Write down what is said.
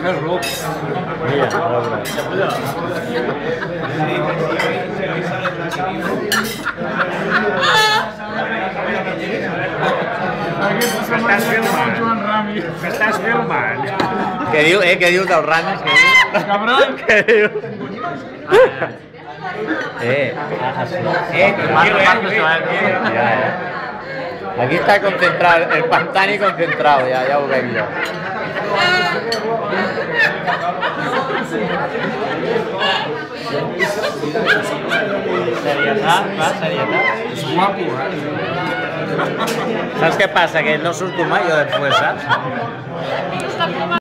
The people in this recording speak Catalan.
fer ruc. Mira, molt bé. M'estàs filmant. M'estàs filmant. Què diu del Ramis? Què diu? Cabron. Què diu? Ja. Aquí está concentrado, el Pantani concentrado, ya ho veig jo. Serietat, va, serietat. És guapo, Saps què passa? Que no surto mai jo després, saps?